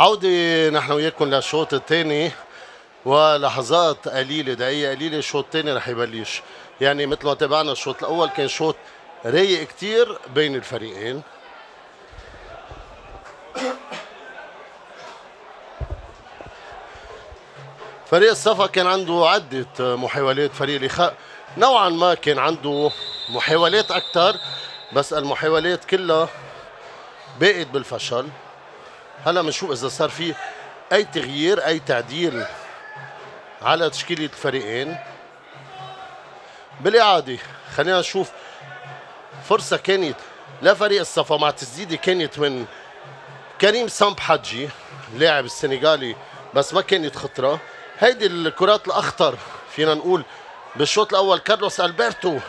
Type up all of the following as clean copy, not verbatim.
عودة نحن وياكم للشوط الثاني، ولحظات قليلة، دقيقة قليلة الشوط الثاني رح يبلش. يعني مثل ما تابعنا الشوط الأول كان شوط رايق كتير بين الفريقين. فريق الصفا كان عنده عدة محاولات، فريق الإخاء نوعا ما كان عنده محاولات أكثر، بس المحاولات كلها باقت بالفشل. هلا بنشوف إذا صار في أي تغيير أي تعديل على تشكيلة الفريقين. بالإعادة خلينا نشوف فرصة كانت لفريق الصفا مع تسديدة كانت من كريم سامب حجي لاعب السنغالي، بس ما كانت خطرة. هيدي الكرات الأخطر فينا نقول بالشوط الأول. كارلوس ألبرتو،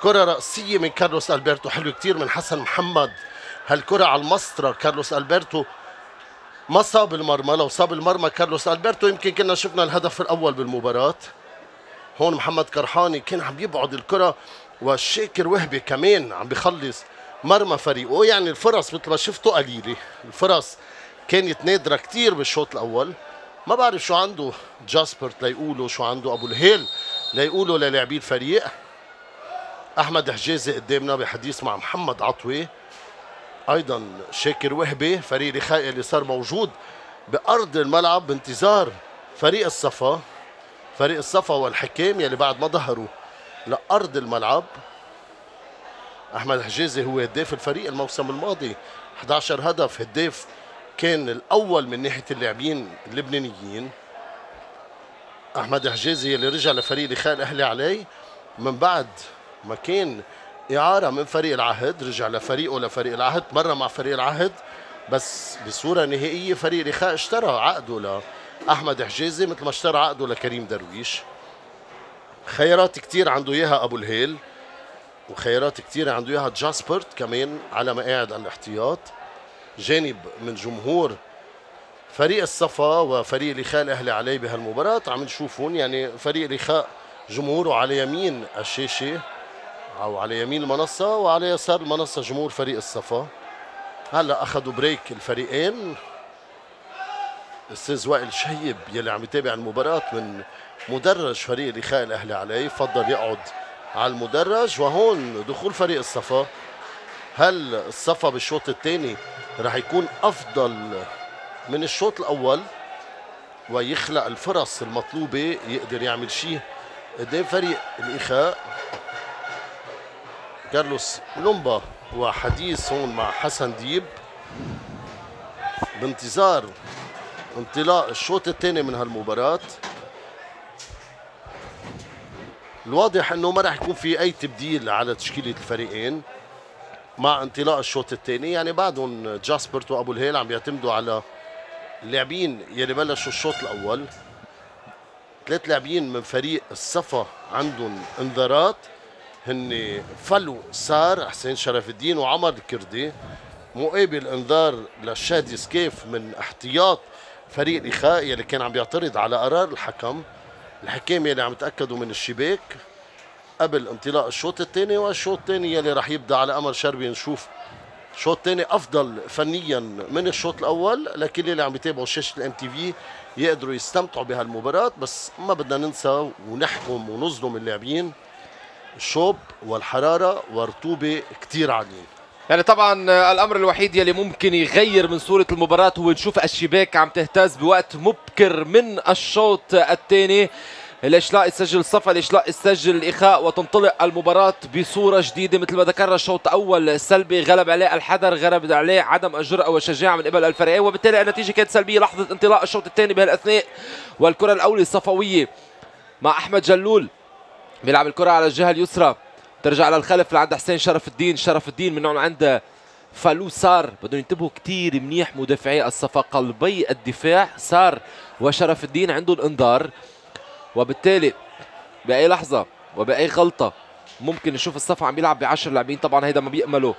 كرة رأسية من كارلوس ألبرتو حلو كتير من حسن محمد. هالكرة على المسطرة، كارلوس ألبرتو ما صاب المرمى، لو صاب المرمى كارلوس ألبرتو يمكن كنا شفنا الهدف الأول بالمباراة. هون محمد كرحاني كان عم يبعد الكرة، والشاكر وهبي كمان عم بيخلص مرمى فريقه. يعني الفرص مثل ما شفتوا قليلة، الفرص كانت نادرة كتير بالشوط الأول. ما بعرف شو عنده جاسبرت ليقولوا، شو عنده أبو الهيل ليقولوا للاعبي الفريق. أحمد حجازي قدامنا بحديث مع محمد عطوي، أيضا شاكر وهبي. فريق الإخاء اللي صار موجود بأرض الملعب بانتظار فريق الصفا. فريق الصفا والحكام يلي بعد ما ظهروا لأرض الملعب. أحمد حجازي هو هداف الفريق الموسم الماضي، 11 هدف، هداف كان الأول من ناحية اللاعبين اللبنانيين. أحمد حجازي اللي رجع لفريق الإخاء الأهلي علي من بعد ما كان إعارة من فريق العهد، رجع لفريقه لفريق العهد، مرة مع فريق العهد بس بصورة نهائية فريق الإخاء اشترى عقده لأحمد حجازي مثل ما اشترى عقده لكريم درويش. خيارات كتير عنده إياها أبو الهيل، وخيارات كتير عنده إياها جاسبرت كمان على مقاعد الاحتياط. جانب من جمهور فريق الصفا وفريق الإخاء الأهلي علي بهالمباراة عم نشوفون. يعني فريق الإخاء جمهوره على يمين الشاشة أو على يمين المنصة، وعلى يسار المنصة جمهور فريق الصفا. هلا أخذوا بريك الفريقين. الأستاذ وائل شهيب يلي عم يتابع المباراة من مدرج فريق الإخاء الأهلي علي فضل يقعد على المدرج. وهون دخول فريق الصفا. هل الصفا بالشوط الثاني رح يكون أفضل من الشوط الأول ويخلق الفرص المطلوبة يقدر يعمل شيء قدام فريق الإخاء؟ كارلوس لومبا وحديث هون مع حسن ديب بانتظار انطلاق الشوط الثاني من هالمباراة. الواضح انه ما راح يكون في اي تبديل على تشكيلة الفريقين مع انطلاق الشوط الثاني. يعني بعدهم جاسبرت وابو الهيل عم بيعتمدوا على اللاعبين يلي بلشوا الشوط الاول. 3 لاعبين من فريق الصفا عندهم انذارات، هن فلو سار، حسين شرف الدين، وعمر الكردي. مقابل انذار لشادي سكيف من احتياط فريق الإخاء يلي كان عم بيعترض على قرار الحكم. الحكام يلي عم يتأكدوا من الشباك قبل انطلاق الشوط الثاني. والشوط الثاني يلي رح يبدا على امر شربي نشوف شوط ثاني افضل فنيا من الشوط الاول. لكن اللي عم يتابعوا شاشه الام تي في يقدروا يستمتعوا بهالمباراه، بس ما بدنا ننسى ونحكم ونظلم اللاعبين. الشوب والحراره والرطوبه كثير عاليين. يعني طبعا الامر الوحيد يلي ممكن يغير من صوره المباراه هو نشوف الشباك عم تهتز بوقت مبكر من الشوط الثاني. ليش لا يسجل الصفا، ليش لا يسجل الإخاء وتنطلق المباراة بصورة جديدة. مثل ما ذكرنا الشوط الأول سلبي، غلب عليه الحذر، غلب عليه عدم الجرأة والشجاعة من قبل الفريقين، وبالتالي النتيجة كانت سلبية. لحظة انطلاق الشوط الثاني بهالأثناء والكرة الأولى الصفوية مع أحمد جلول بيلعب الكرة على الجهة اليسرى، ترجع للخلف لعند حسين شرف الدين. شرف الدين من هون عند فالو سار. بدهم ينتبهوا كتير منيح مدافعي الصفا، قلبي الدفاع سار وشرف الدين عندهم انذار، وبالتالي بأي لحظة وبأي غلطة ممكن نشوف الصفا عم يلعب ب10 لاعبين. طبعا هيدا ما بيأملوا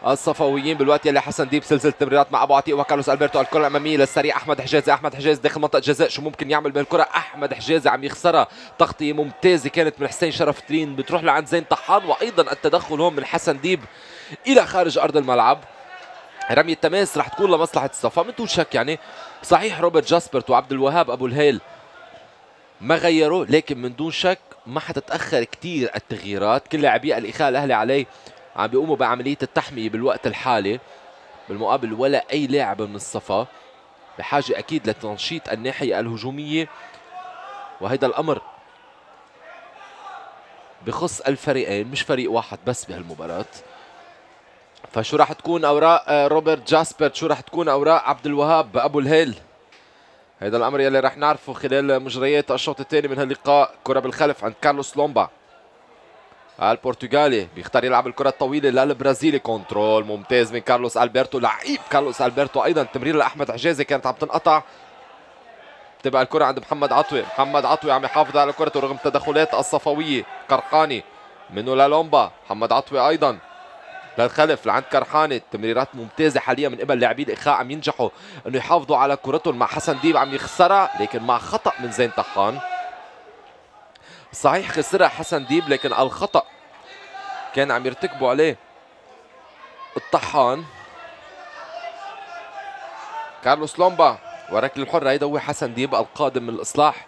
الصفويين بالوقت يلي حسن ديب سلسلة تمريرات مع ابو عتيق وكارلوس البرتو. الكرة الامامية للسريع احمد حجازي. احمد حجازي داخل منطقة جزاء، شو ممكن يعمل بالكرة؟ احمد حجازي عم يخسرها. تغطية ممتازة كانت من حسين شرف الدين بتروح لعند زين طحان، وايضا التدخل هون من حسن ديب الى خارج ارض الملعب. رمية تماس رح تكون لمصلحة الصفا من دون شك. يعني صحيح روبرت جاسبرت وعبد الوهاب أبو الهيل ما غيروا، لكن من دون شك ما حتتأخر كتير التغييرات. كل لاعبي الإخاء الأهلي عليه عم بيقوموا بعملية التحمية بالوقت الحالي، بالمقابل ولا أي لاعب من الصفا بحاجة أكيد لتنشيط الناحية الهجومية، وهيدا الأمر بخص الفريقين مش فريق واحد بس بهالمباراة. فشو راح تكون أوراق روبرت جاسبرت، شو راح تكون أوراق عبد الوهاب أبو الهيل، هيدا الأمر يلي راح نعرفه خلال مجريات الشوط الثاني من هاللقاء. كرة بالخلف عند كارلوس لومبا البرتغالي، بيختار يلعب الكرة الطويلة للبرازيلي. كنترول ممتاز من كارلوس ألبرتو، لعيب كارلوس ألبرتو. أيضا تمرير لأحمد حجازي كانت عم تنقطع. تبقى الكرة عند محمد عطوي، محمد عطوي عم يحافظ على كرته رغم التدخلات الصفوية. قرقاني منه للومبا، محمد عطوي أيضا للخلف لعند كرحاني. تمريرات ممتازة حاليا من قبل لاعبي الإخاء، عم ينجحوا انه يحافظوا على كرتهم. مع حسن ديب عم يخسرها لكن مع خطأ من زين طحان. صحيح خسرها حسن ديب لكن الخطأ كان عم يرتكبوا عليه الطحان. كارلوس لومبا وركل الحرة، هيدا هو حسن ديب القادم من الإصلاح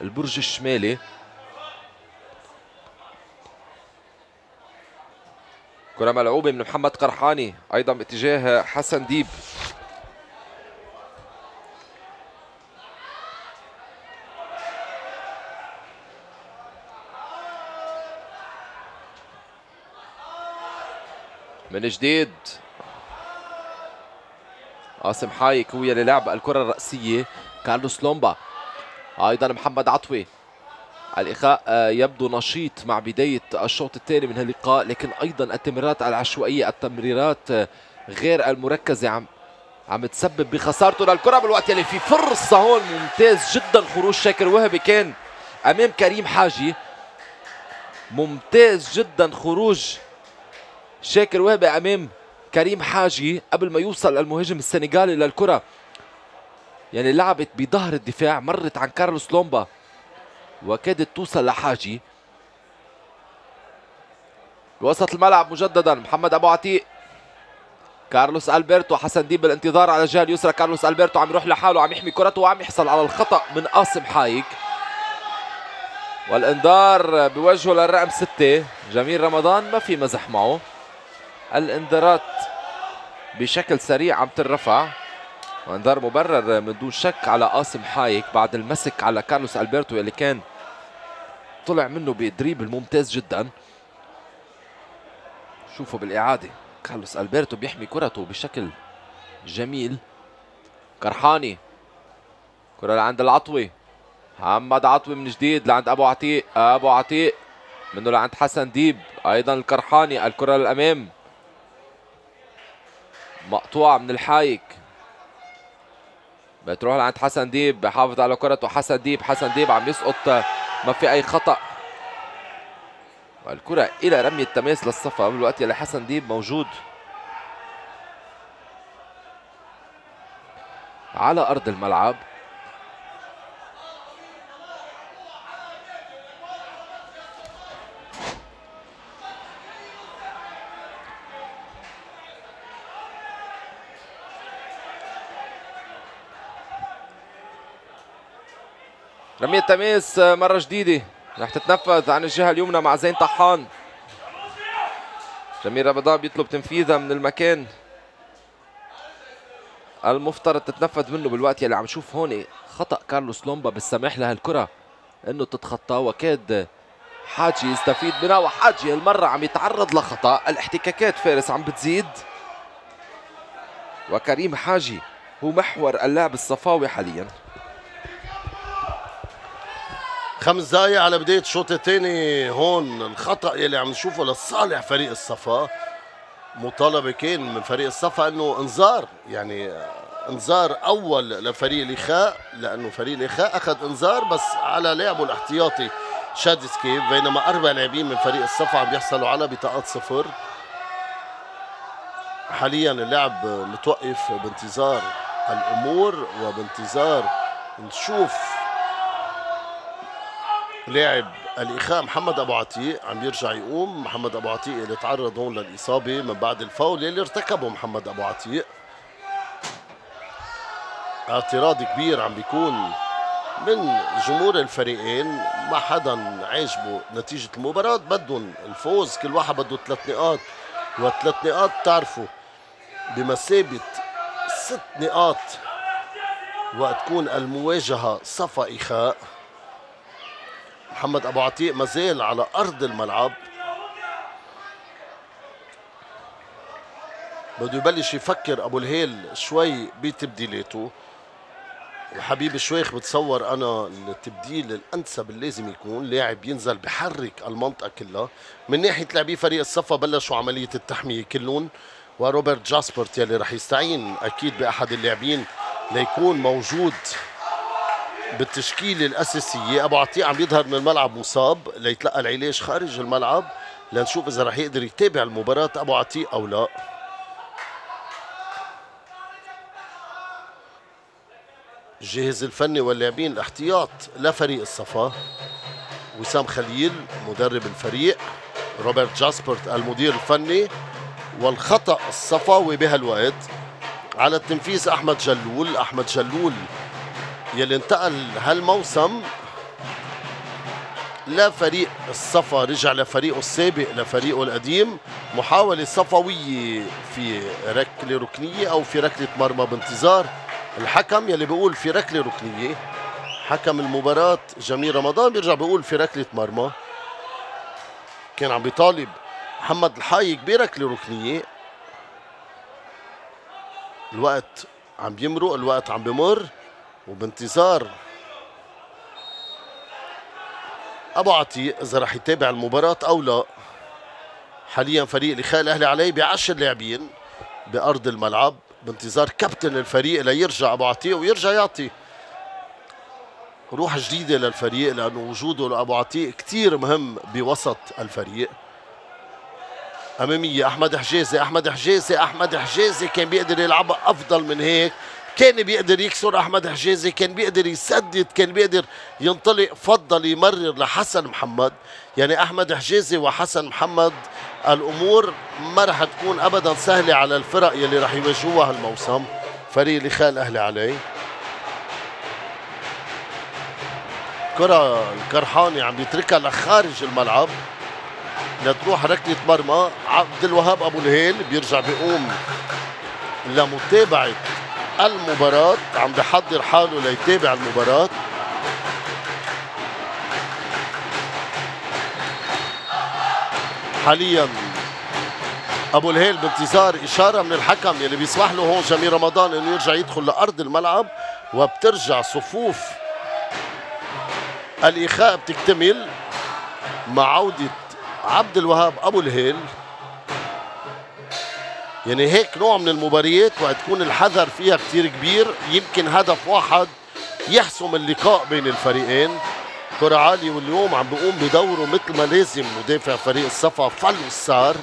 البرج الشمالي. كرة ملعوبة من محمد قرحاني أيضا باتجاه حسن ديب. من جديد قاسم حايك هو اللي لعب الكرة الرأسية. كارلوس لومبا أيضا محمد عطوي. الإخاء يبدو نشيط مع بداية الشوط الثاني من هاللقاء، لكن أيضا التمريرات العشوائية، التمريرات غير المركزة عم تسبب بخسارته للكرة بالوقت يلي في فرصة هون. ممتاز جدا خروج شاكر وهبي كان أمام كريم حاجي. ممتاز جدا خروج شاكر وهبي أمام كريم حاجي قبل ما يوصل المهاجم السنغالي للكرة. يعني لعبت بظهر الدفاع، مرت عن كارلوس لومبا وكادت توصل لحاجي. بوسط الملعب مجددا محمد ابو عتيق، كارلوس ألبرتو، حسن ديب بالانتظار على الجهه اليسرى. كارلوس ألبرتو عم يروح لحاله، عم يحمي كرته وعم يحصل على الخطا من قاسم حايك، والانذار بوجهه للرقم 6 جميل رمضان. ما في مزح معه، الانذارات بشكل سريع عم ترفع، وانذار مبرر من دون شك على قاسم حايك بعد المسك على كارلوس ألبرتو اللي كان طلع منه بدريبل ممتاز جدا. شوفوا بالإعادة كارلوس ألبرتو بيحمي كرته بشكل جميل. قرحاني، كرة لعند العطوي، محمد عطوي من جديد لعند أبو عتيق، أبو عتيق منه لعند حسن ديب، أيضا القرحاني، الكرة للأمام مقطوعة من الحايك، بتروح لعند حسن ديب، بحافظ على كرته حسن ديب. حسن ديب عم يسقط، ما في أي خطأ، والكرة إلى رمية تماس للصفا بالوقت يلي حسن ديب موجود على أرض الملعب. رمية تماس مرة جديدة رح تتنفذ عن الجهة اليمنى مع زين طحان. جميل رمضان بيطلب تنفيذها من المكان المفترض تتنفذ منه بالوقت يلي عم نشوف هون خطأ كارلوس لومبا بالسماح لهالكرة انه تتخطى، وكاد حاجي يستفيد منها، وحاجي هالمرة عم يتعرض لخطأ. الاحتكاكات فارس عم بتزيد، وكريم حاجي هو محور اللعب الصفاوي حاليا. 5 دقايق على بداية الشوط الثاني. هون الخطأ يلي عم نشوفه لصالح فريق الصفا. مطالبة كان من فريق الصفا انه انذار، يعني انذار اول لفريق الاخاء، لانه فريق الاخاء اخذ انذار بس على لاعبه الاحتياطي شاد سكيب، بينما 4 لاعبين من فريق الصفا عم بيحصلوا على بطاقات 0. حاليا اللعب متوقف بانتظار الامور وبانتظار نشوف لاعب الإخاء محمد أبو عتيق عم يرجع يقوم. محمد أبو عتيق اللي تعرض هون للإصابة من بعد الفاول اللي ارتكبه محمد أبو عتيق. اعتراض كبير عم بيكون من جمهور الفريقين، ما حدا عاجبه نتيجة المباراة، بدهم الفوز، كل واحد بده 3 نقاط، و3 نقاط تعرفوا بمثابة 6 نقاط وقت تكون المواجهة صفا إخاء. محمد أبو عتيق مازال على أرض الملعب، بده يبلش يفكر أبو الهيل شوي بتبديلاته. وحبيب الشويخ بتصور أنا التبديل الأنسب اللي لازم يكون لاعب ينزل بحرك المنطقة كلها. من ناحية لاعبي فريق الصفا بلشوا عملية التحمية كلهم، وروبرت جاسبرت يلي رح يستعين أكيد بأحد اللاعبين ليكون موجود بالتشكيلة الأساسية. أبو عتيق عم يظهر من الملعب مصاب ليتلقى العلاج خارج الملعب، لنشوف إذا رح يقدر يتابع المباراة أبو عتيق أو لا. الجهاز الفني واللاعبين الاحتياط لفريق الصفا: وسام خليل مدرب الفريق، روبرت جاسبرت المدير الفني، والخطأ الصفاوي بهالوقت على التنفيذ أحمد جلول. أحمد جلول يلي انتقل هالموسم لفريق الصفا، رجع لفريقه السابق لفريقه القديم. محاولة صفوية في ركلة ركنية أو في ركلة مرمى بانتظار الحكم يلي بيقول في ركلة ركنية. حكم المباراة جميل رمضان بيرجع بيقول في ركلة مرمى. كان عم بيطالب محمد الحايق بركلة ركنية. الوقت عم بيمرق، الوقت عم بمر، وبانتظار أبو عتيق إذا رح يتابع المباراة أو لا. حاليا فريق الإخاء الأهلي عليه ب10 لاعبين بأرض الملعب بانتظار كابتن الفريق ليرجع أبو عتيق ويرجع يعطي روح جديدة للفريق، لأنه وجوده لأبو عتيق كتير مهم بوسط الفريق. أمامية أحمد حجازي، أحمد حجازي، أحمد حجازي كان بيقدر يلعبها أفضل من هيك، كان بيقدر يكسر أحمد حجازي، كان بيقدر يسدد، كان بيقدر ينطلق، فضل يمرر لحسن محمد. يعني أحمد حجازي وحسن محمد الأمور ما رح تكون أبدا سهلة على الفرق يلي رح يواجهوها هالموسم. فريق الإخاء الأهلي عليه كرة الكرحاني عم بيتركها لخارج الملعب لتروح ركلة مرمى. عبد الوهاب أبو الهيل بيرجع بيقوم لمتابعة المباراة، عم بحضر حاله ليتابع المباراة. حاليا أبو الهيل بانتظار إشارة من الحكم يلي بيسمح له هون جميل رمضان إنه يرجع يدخل لأرض الملعب، وبترجع صفوف الإخاء بتكتمل مع عودة عبد الوهاب أبو الهيل. يعني هيك نوع من المباريات وقت تكون الحذر فيها كتير كبير، يمكن هدف واحد يحسم اللقاء بين الفريقين. كرة عالية، واليوم عم بيقوم بدوره مثل ما لازم مدافع فريق الصفا فلوسار،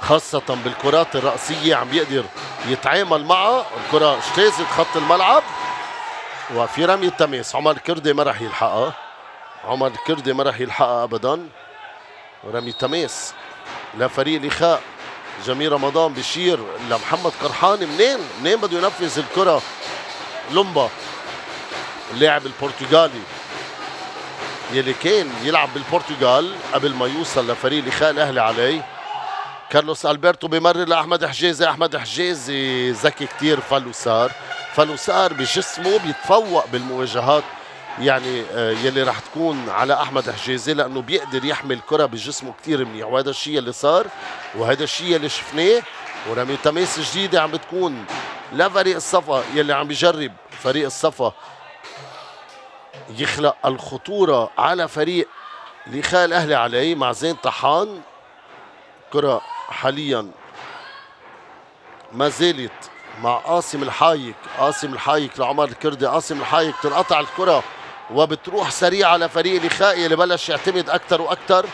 خاصة بالكرات الرأسية عم بيقدر يتعامل معها. الكرة اجتازت خط الملعب وفي رمي التماس. عمر كردي ما رح يلحقها، عمر كردي ما رح يلحقها أبدا. رمي تماس لفريق الإخاء. جميل رمضان بشير لمحمد قرحاني. منين بده ينفذ الكرة؟ لومبا اللاعب البرتغالي يلي كان يلعب بالبرتغال قبل ما يوصل لفريق الإخاء الأهلي عليه. كارلوس ألبرتو بمرر لأحمد حجازي. أحمد حجازي ذكي كتير. فلوسار بجسمه بيتفوق بالمواجهات يعني يلي رح تكون على أحمد حجازي، لأنه بيقدر يحمل كرة بجسمه كتير منيح، وهذا الشيء اللي صار وهذا الشيء اللي شفناه. ورمي تماس جديدة عم بتكون لفريق الصفا يلي عم بيجرب فريق الصفا يخلق الخطورة على فريق الإخاء الأهلي عليه مع زين طحان. كرة حاليا ما زالت مع قاسم الحايك. قاسم الحايك لعمر الكردي. قاسم الحايك تنقطع الكرة وبتروح سريعة لفريق الإخاء يلي بلش يعتمد أكثر وأكثر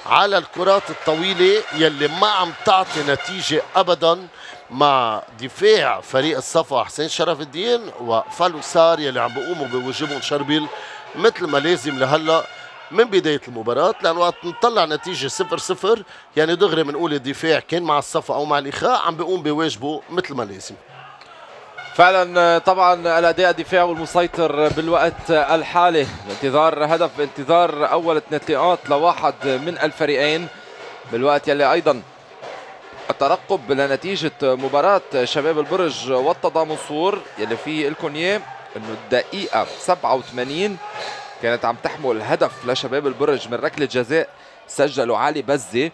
على الكرات الطويلة يلي ما عم تعطي نتيجة أبدا مع دفاع فريق الصفا حسين شرف الدين وفلوسار يلي عم بيقوموا بواجبهم شربيل مثل ما لازم لهلا من بداية المباراة، لأن وقت نطلع نتيجة 0-0 يعني دغري بنقول الدفاع كان مع الصفا أو مع الإخاء عم بيقوم بواجبه مثل ما لازم. فعلا طبعا الاداء الدفاعي والمسيطر بالوقت الحالي بانتظار هدف، بانتظار اول 3 نقاط لواحد من الفريقين، بالوقت يلي ايضا الترقب لنتيجة مباراة شباب البرج والتضامنصور يلي فيه لكم اياه انه الدقيقة 87 كانت عم تحمل هدف لشباب البرج من ركلة جزاء سجله علي بزي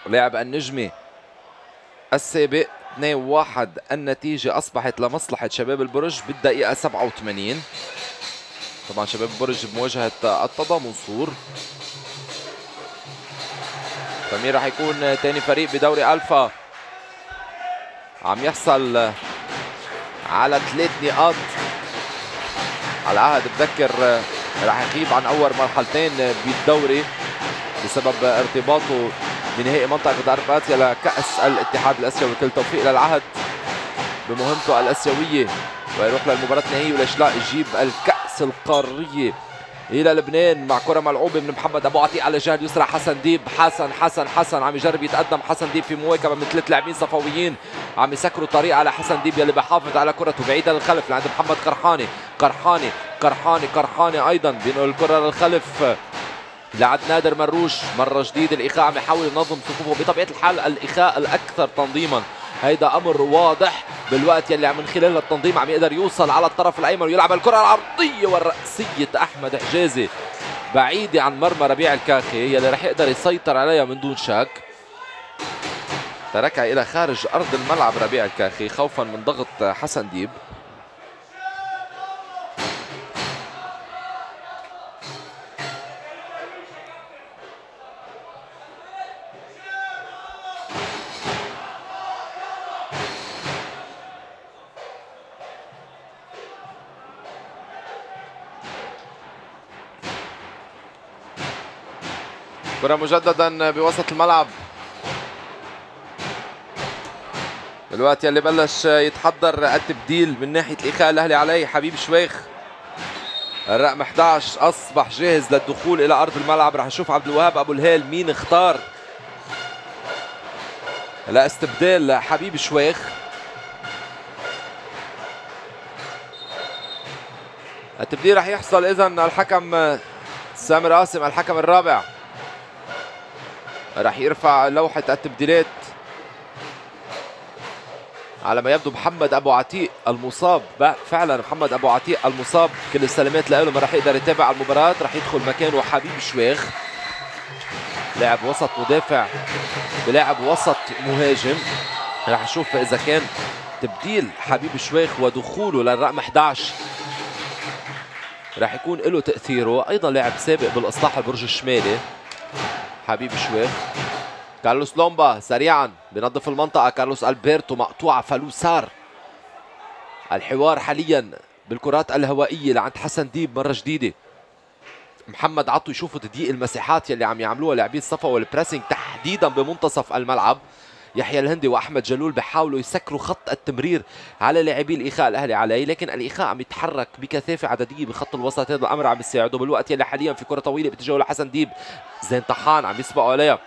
لاعب النجمي السابق. 2-1 النتيجة أصبحت لمصلحة شباب البرج بالدقيقة 87. طبعا شباب البرج بمواجهة التضامنصور. فمين راح يكون تاني فريق بدوري ألفا عم يحصل على 3 نقاط على عهد بذكر راح يغيب عن أول مرحلتين بالدوري بسبب ارتباطه بنهائي منطقة غرب آسيا لكأس الاتحاد الآسيوي. وكل توفيق للعهد بمهمته الآسيوية ويروح للمباراة النهائية والإشلاء يجيب الكأس القارية إلى لبنان مع كرة ملعوبة من محمد أبو عتيق على الجهة اليسرى. حسن ديب حسن عم يجرب يتقدم حسن ديب في مواكبة من 3 لاعبين صفويين عم يسكروا طريق على حسن ديب يلي بحافظ على كرته بعيدة للخلف لعند محمد قرحاني أيضا بينقل الكرة للخلف لعند نادر مروش. مرة جديدة الإخاء عم يحاول ينظم صفوفه، بطبيعة الحال الإخاء الأكثر تنظيما، هيدا أمر واضح بالوقت يلي من خلال التنظيم عم يقدر يوصل على الطرف الأيمن ويلعب الكرة العرضية والرأسية أحمد حجازي بعيدة عن مرمى ربيع الكاخي يلي رح يقدر يسيطر عليها من دون شك. تركها إلى خارج أرض الملعب ربيع الكاخي خوفا من ضغط حسن ديب. كرة مجددا بوسط الملعب الوقت يلي بلش يتحضر التبديل من ناحية الإخاء الأهلي عليه. حبيب شويخ الرقم 11 أصبح جاهز للدخول إلى أرض الملعب. رح نشوف عبد الوهاب أبو الهيل مين اختار لاستبدال حبيب شويخ. التبديل رح يحصل إذن الحكم سامر قاسم الحكم الرابع رح يرفع لوحة التبديلات. على ما يبدو محمد أبو عتيق المصاب، فعلا محمد أبو عتيق المصاب، كل السلامات له ما رح يقدر يتابع المباراة. رح يدخل مكانه حبيب شويخ لاعب وسط مدافع بلاعب وسط مهاجم. رح نشوف إذا كان تبديل حبيب شويخ ودخوله للرقم 11 رح يكون له تأثيره. أيضا لاعب سابق بالإصلاح البرج الشمالي حبيب شويخ. كارلوس لومبا سريعا بنظف المنطقة. كارلوس ألبرتو مقطوعة فلوسار. الحوار حاليا بالكرات الهوائية لعند حسن ديب مرة جديدة. محمد عطو يشوفوا تضييق المساحات يلي عم يعملوها لاعبي الصفا والبريسنج تحديدا بمنتصف الملعب. يحيى الهندي واحمد جلول بيحاولوا يسكروا خط التمرير على لاعبي الاخاء الاهلي عليه، لكن الاخاء عم يتحرك بكثافه عدديه بخط الوسط. هذا الامر عم يساعده بالوقت يلي حاليا في كره طويله باتجاه لحسن ديب. زين طحان عم يسبقوا عليها.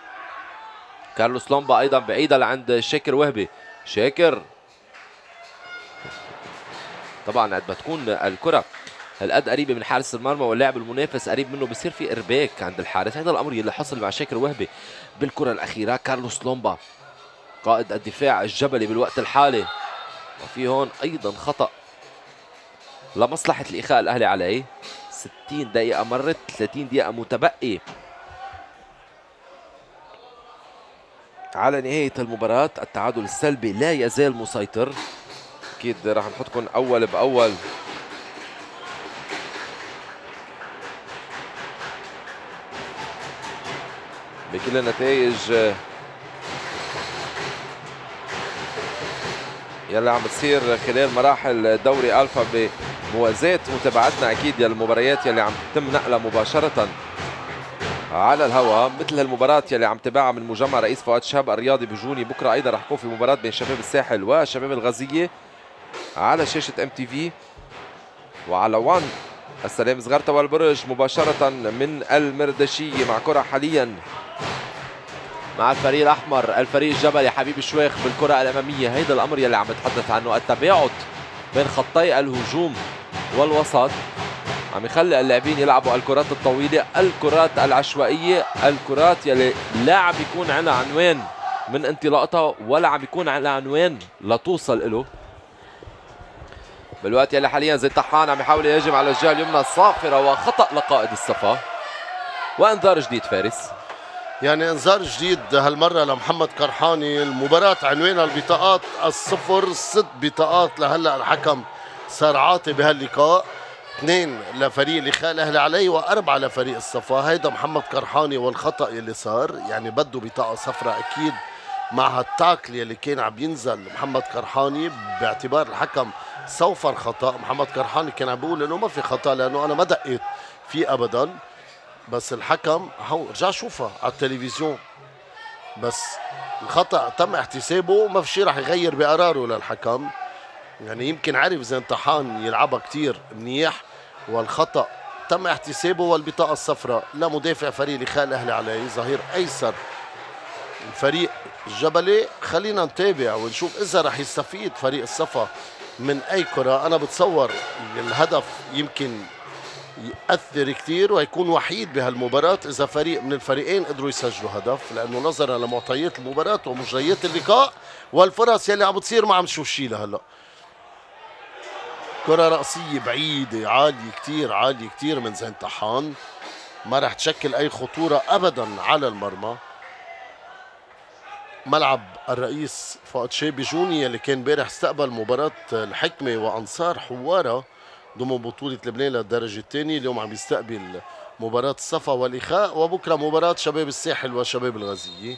كارلوس لومبا ايضا بعيده لعند شاكر وهبي. شاكر طبعا قد ما تكون الكره هالقد قريبه من حارس المرمى واللاعب المنافس قريب منه بصير في ارباك عند الحارس. هذا الامر يلي حصل مع شاكر وهبي بالكره الاخيره. كارلوس لومبا قائد الدفاع الجبلي بالوقت الحالي، وفي هون ايضا خطا لمصلحه الاخاء الاهلي عليه. 60 دقيقه مرت، 30 دقيقه متبقي على نهايه المباراه. التعادل السلبي لا يزال مسيطر. اكيد راح نحطكم اول باول بكل النتائج يلي عم تصير خلال مراحل دوري الفا بموازاة متابعتنا اكيد للمباريات يلي عم تتم نقلها مباشرة على الهواء، مثل هالمباراة يلي عم تابعها من مجمع رئيس فؤاد شهاب الرياضي بجوني. بكره ايضا رح يكون في مباراة بين شباب الساحل وشباب الغازية على شاشة MTV وعلى 1 السلام زغرتا والبرج مباشرة من المردشية مع كرة حاليا مع الفريق الأحمر. الفريق الجبلي حبيب شويخ بالكرة الأمامية. هيدا الأمر يلي عم بتحدث عنه، التباعد بين خطي الهجوم والوسط عم يخلي اللاعبين يلعبوا الكرات الطويلة، الكرات العشوائية، الكرات يلي لا عم يكون عندها عنوان من انطلاقتها ولا عم يكون عندها عنوان لتوصل له. بالوقت يلي حاليا زيد طحان عم يحاول يهاجم على الجهة اليمنى صافرة، وخطأ لقائد الصفا وانذار جديد فارس. يعني انذار جديد هالمرة لمحمد كرحاني. المباراة عنوانها البطاقات الصفر، 6 بطاقات لهلا الحكم صار عاطي بهاللقاء، 2 لفريق الإخاء الأهلي علي و4 لفريق الصفا. هيدا محمد كرحاني والخطأ يلي صار، يعني بده بطاقة صفراء أكيد مع هالتاكل يلي كان عم ينزل محمد كرحاني، باعتبار الحكم صوفر خطأ. محمد كرحاني كان عم بيقول انه ما في خطأ لانه انا ما دقيت فيه ابدا، بس الحكم رجع شوفها على التلفزيون، بس الخطأ تم احتسابه وما في شيء رح يغير بقراره للحكم. يعني يمكن عرف زين طحان يلعبها كتير منيح، والخطأ تم احتسابه. والبطاقة الصفراء لمدافع فريق الإخاء الأهلي علي ظهير أيسر الفريق الجبلي. خلينا نتابع ونشوف إذا رح يستفيد فريق الصفا من أي كرة. أنا بتصور الهدف يمكن يأثر كتير ويكون وحيد بهالمباراة إذا فريق من الفريقين قدروا يسجلوا هدف، لأنه نظرا لمعطيات المباراة ومجريات اللقاء والفرص يلي عم بتصير ما عم نشوف شيء لهلا. كرة رأسية بعيدة عالية كتير، عالية كتير من زين طحان، ما رح تشكل أي خطورة أبدا على المرمى. ملعب الرئيس فؤاد شيبي جوني اللي كان امبارح استقبل مباراة الحكمة وأنصار حوارة ضمن بطولة لبنان للدرجة الثانية. اليوم عم يستقبل مباراة الصفا والإخاء، وبكرة مباراة شباب الساحل وشباب الغزية.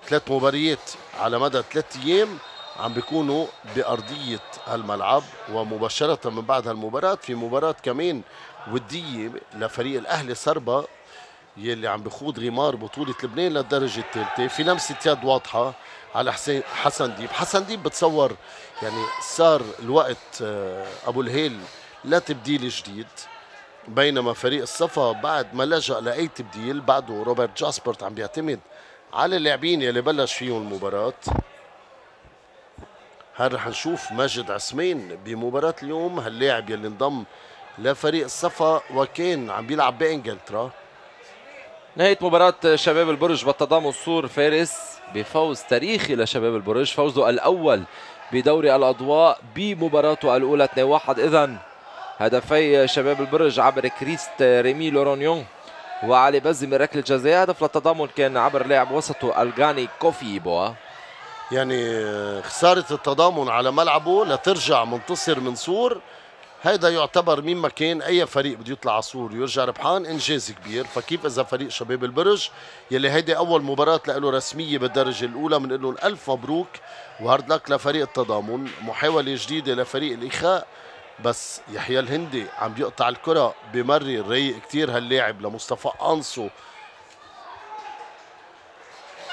3 مباريات على مدى 3 أيام عم بيكونوا بأرضية الملعب، ومباشرة من بعد هالمباراة في مباراة كمان ودية لفريق الأهلي صربا يلي عم بخوض غمار بطولة لبنان للدرجة الثالثة. في لمسة يد واضحة على حسن ديب. حسن ديب بتصور يعني صار الوقت أبو الهيل لتبديل جديد، بينما فريق الصفا بعد ما لجأ لأي تبديل بعده روبرت جاسبرت عم بيعتمد على اللاعبين يلي بلش فيهم المباراة. هل رح نشوف ماجد عثمان بمباراة اليوم، هاللاعب يلي انضم لفريق الصفا وكان عم بيلعب بإنجلترا. نهاية مباراة شباب البرج بالتضامن السور فارس بفوز تاريخي لشباب البرج، فوزه الأول بدوري الأضواء بمباراته الأولى 2-1. إذن هدفي شباب البرج عبر كريست ريمي لورونيون وعلي بزي من ركلة جزاء. هدف للتضامن كان عبر لاعب وسطه الغاني كوفي بوا. يعني خسارة التضامن على ملعبه لترجع منتصر من سور، هيدا يعتبر مما كان اي فريق بده يطلع على سور ويرجع ربحان انجاز كبير. فكيف اذا فريق شباب البرج يلي هيدي اول مباراة له رسمية بالدرجة الاولى، بنقول لهم الف مبروك وهارد لك لفريق التضامن. محاولة جديدة لفريق الاخاء، بس يحيى الهندي عم بيقطع الكرة بمرر رايق كتير هاللاعب لمصطفى انصو.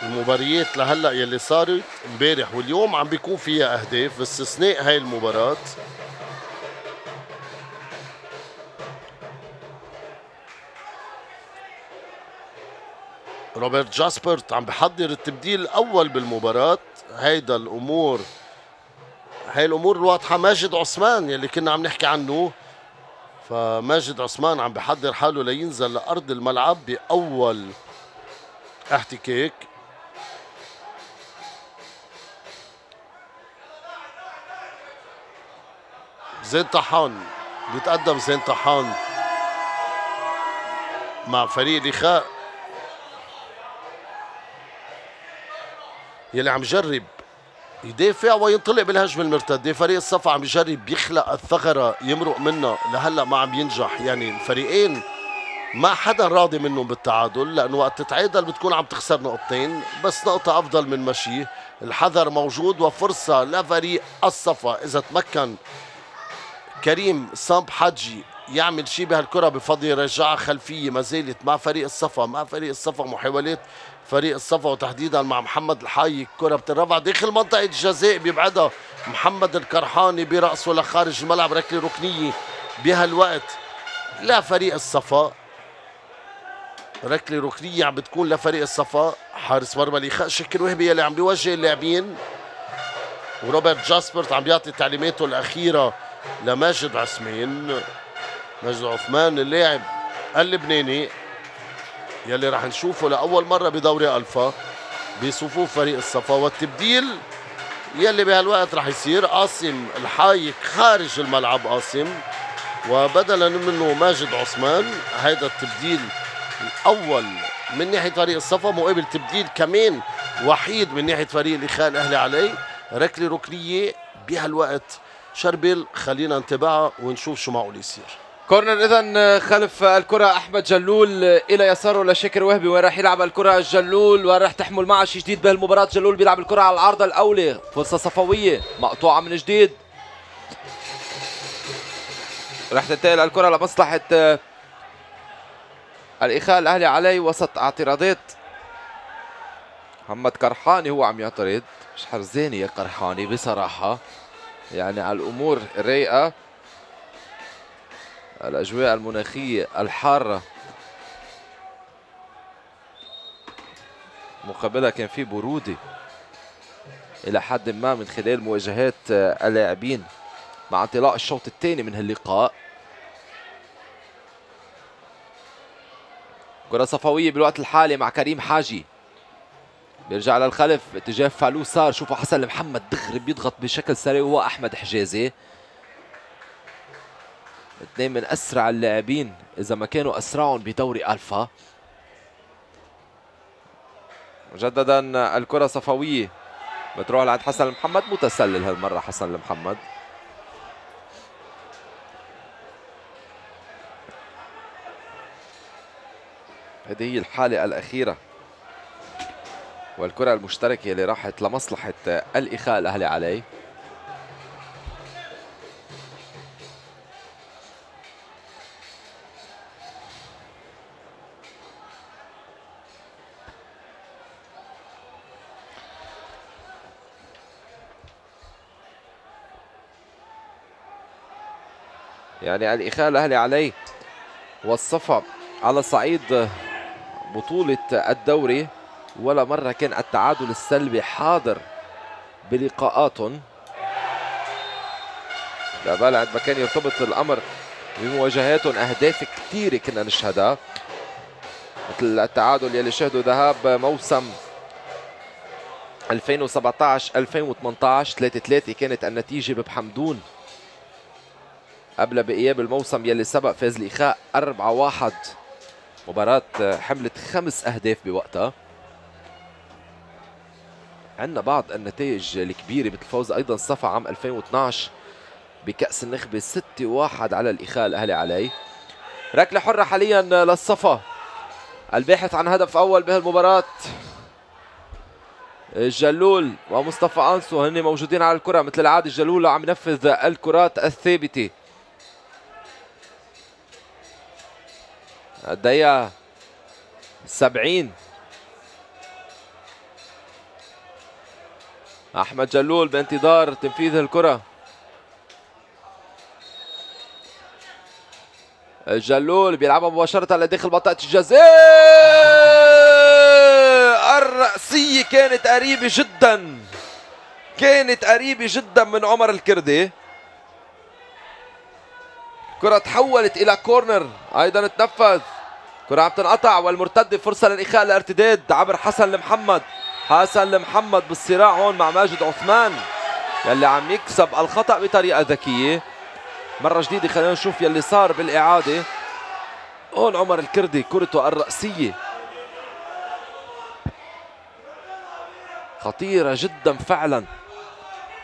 المباريات لهلا يلي صارت امبارح واليوم عم بيكون فيها اهداف باستثناء هاي المباراة. روبرت جاسبرت عم بحضر التبديل الاول بالمباراة. هاي الامور الواضحة. ماجد عثمان يلي كنا عم نحكي عنه، فماجد عثمان عم بحضر حاله لينزل لأرض الملعب بأول احتكاك. زين طحان بيتقدم، زين طحان مع فريق الإخاء يلي عم جرب يدافع وينطلق بالهجمة المرتدة. فريق الصفا عم يجرب يخلق الثغرة يمرق منها، لهلا ما عم ينجح. يعني الفريقين ما حدا راضي منهم بالتعادل، لأنه وقت تتعادل بتكون عم تخسر نقطتين، بس نقطة أفضل من مشي. الحذر موجود وفرصة لفريق الصفا إذا تمكن كريم سامب حجي يعمل شيء بهالكرة بفضل يرجعها خلفية. ما زالت مع فريق الصفا محاولات فريق الصفا وتحديدا مع محمد الحاي. الكرة بترفع داخل منطقة الجزاء، بيبعدها محمد الكرحاني برأسه لخارج الملعب، ركلة ركنية بهالوقت لفريق الصفا. ركله ركنيه عم بتكون لفريق الصفا. حارس مرمى الإخاء شكر وهبي اللي عم بيوجه اللاعبين، وروبرت جاسبرت عم بيعطي تعليماته الأخيرة لماجد عثمان. ماجد عثمان اللاعب اللبناني يلي راح نشوفه لأول مرة بدوري ألفا بصفوف فريق الصفا. والتبديل يلي بهالوقت راح يصير قاسم الحايك خارج الملعب قاسم، وبدلا منه ماجد عثمان. هيدا التبديل الأول من ناحية فريق الصفا، مقابل تبديل كمان وحيد من ناحية فريق الإخاء الأهلي علي. ركلة ركنية بهالوقت شربل، خلينا نتابعها ونشوف شو معقول يصير. كورنر اذا خلف الكره احمد جلول الى يساره لشاكر وهبي. وين راح يلعب الكره جلول وين راح تحمل معه شيء جديد بهالمباراه. جلول بيلعب الكره على العارضه الاولى، فرصه صفويه مقطوعه من جديد. راح تنتقل الكره لمصلحه الإخاء الأهلي علي وسط اعتراضات. محمد قرحاني هو عم يعترض. مش حرزاني يا قرحاني بصراحة، يعني على الأمور الرايقة، الأجواء المناخية الحارة، مقابلها كان في برودة إلى حد ما من خلال مواجهات اللاعبين مع انطلاق الشوط الثاني من هاللقاء. كرة صفوية بالوقت الحالي مع كريم حاجي، بيرجع للخلف اتجاه فالو صار. شوفوا حسن محمد دغري بيضغط بشكل سريع، وهو احمد حجازي. اثنين من اسرع اللاعبين اذا ما كانوا اسرعهم بدوري الفا. مجددا الكرة صفوية بتروح لعند حسن محمد، متسلل هالمرة حسن محمد. هذه هي الحالة الأخيرة، والكرة المشتركة اللي راحت لمصلحة الإخاء الأهلي علي. يعني الإخاء الأهلي علي والصفا على صعيد بطولة الدوري ولا مرة كان التعادل السلبي حاضر بلقاءاتهم. لا بال عند ما كان يرتبط الأمر بمواجهاتهم أهداف كثيرة كنا نشهدها، مثل التعادل يلي شهدوا ذهاب موسم 2017-2018 3-3 كانت النتيجة ببحمدون، قبل بإياب الموسم يلي سبق فاز الإخاء 4-1. مباراة حملت 5 أهداف بوقتها. عندنا بعض النتائج الكبيرة مثل فوز أيضا صفا عام 2012 بكأس النخبة 6-1 على الإخاء الأهلي علي. ركلة حرة حاليا للصفا، الباحث عن هدف أول بهالمباراة جلول ومصطفى أنسو هن موجودين على الكرة مثل العادة. جلول عم ينفذ الكرات الثابتة. الدقيقة 70 أحمد جلول بانتظار تنفيذ الكرة. جلول بيلعبها مباشرة لداخل منطقة الجزاء، الرأسية كانت قريبة جدا، كانت قريبة جدا من عمر الكردي. كرة تحولت إلى كورنر أيضا تنفذ. كرة عم تنقطع والمرتدة فرصة للإخاء الارتداد عبر حسن المحمد. حسن المحمد بالصراع هون مع ماجد عثمان يلي عم يكسب الخطأ بطريقة ذكية. مرة جديدة خلينا نشوف يلي صار بالإعادة. هون عمر الكردي كرته الرأسية خطيرة جدا فعلا،